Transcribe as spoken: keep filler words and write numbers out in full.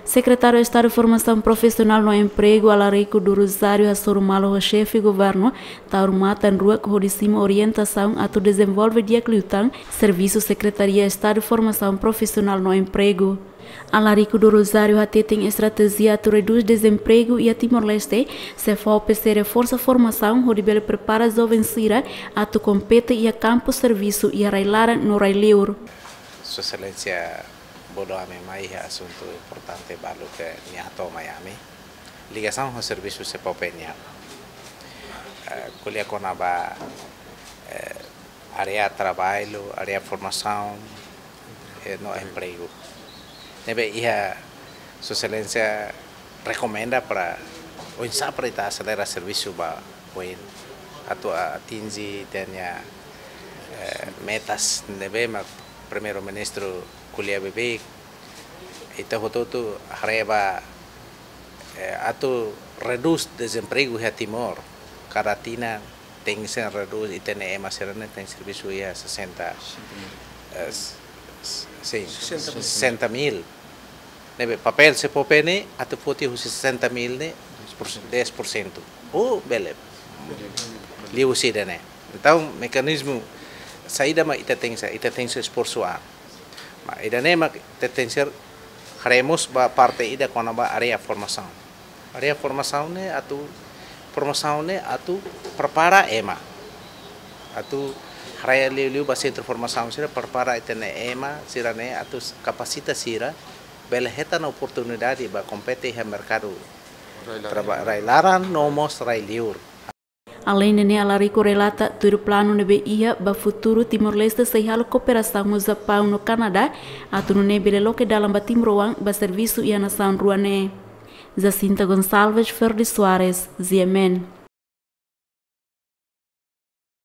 Sekretáriu Estadu Formasaun Profisionál no Empregu, Alarico do Rosário, hasoru malu ho xefe governu, tau matan-ruak hodi simu orientasaun atu dezenvolve di'ak liután servisu Sekretaria Estadu Formasaun Profisionál no Empregu. Alarico do Rosário hateten estratéjia atu redús dezempregu iha Timor-Leste sei fó pese reforsa formasaun hodi bele prepara joven sira atu kompete iha kampu servisu iha rai-laran no rai-liur. Sua Exelénsia bodo ami mai iha asuntu importante balu ke nia hato'o mai ami. Ligasaun ho servisu SEPOPE nian. Eh, ko'alia kona-ba, eh, área traballu, área formasaun, eh, no empregu. Ne'ebé iha Sua Exelénsia rekomenda para oinsá para ita aselera servisu ba oin atu atinje ita-nia, eh, metas ne'ebé mak Primeiru-Ministru ko'alia beibeik, ita hotu-hotu haree ba, eh, atu redús dezempregu iha Timor. Kada tinan tenke redús, ita-nia ema sira-ne'e tenke servisu iha sesenta, eh, s-, s-, sin, sesenta mil. Sesenta mil. Ne'ebé papél SEPOPE ne'e atu foti husi sesenta mil ne'e dez por cento. Oh, bele. Liuhusi ida-ne'e. Entaun, mekanizmu saida mak ita tenke, ita tenke esforsu an. Mas ida-ne'e mak ita tenke haree mós ba parte ida kona-ba área formasaun. Área formasaun ne'e atu, formasaun ne'e atu prepara ema. Atu haree liuliu ba sentru formasaun sira prepara ita-nia ema sira-ne'e atu kapasita sira bele hetan oportunidade ba kompete iha merkadu traba-, rai-laran no mós rai-liur. Aleinde ne'e, Alarico relata tuir planu ne'ebé iha ba futuru Timor-Leste sei halo kooperasaun ho Japaun no Kanadá, atu nune'e bele loke dalan ba timoroan ba servisu iha nasaun rua ne'e. Jacinta Gonçalves, Ferdi Soares, G M N.